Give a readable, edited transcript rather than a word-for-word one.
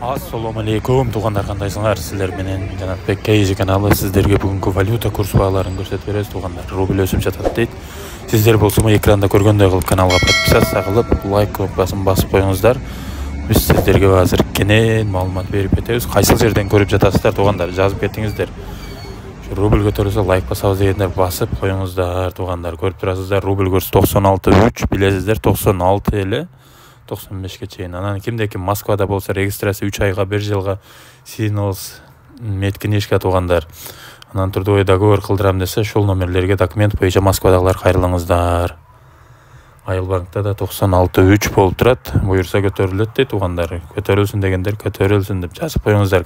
Ассаламу алейкум туугандар, кандайсыңар? Сиздер менен Жанатбек Кейзи каналы сиздерге бүгүнкү валюта курс бааларын көрсөтүп беребиз. Туугандар, рубль өсүп жатат дейт. Сиздер болсо экранда көргөндөй кылып каналга подписаться кылып, лайк кнопкасын басып коюңуздар. Биз сиздерге азыр кенен маалымат берип кетебиз. Кайсыл жерден көрүп жатасыздар туугандар, жазып кетиңиздер. Рубль көтөрүлсө лайк басабыз дегендер басып коюңуздар туугандар. Көрүп турасыздар, рубль курсу 96,3, билесиздер, 96 эле 95ке чейин. Анан кимде ким Москвада болсо регистрация 3 айга, 1 жылга сиgnals меткинишка туугандар. Анан трудовой договор кылдырам десе, ошол номерлерге документ боюнча Москвадагылар кайрылыңыздар. Айыл банкта да 96,3 болуп турат. Буюрса көтөрүлөт дейт туугандар. Көтөрүлсүн дегендер көтөрүлсүн деп жазып коюңуздар.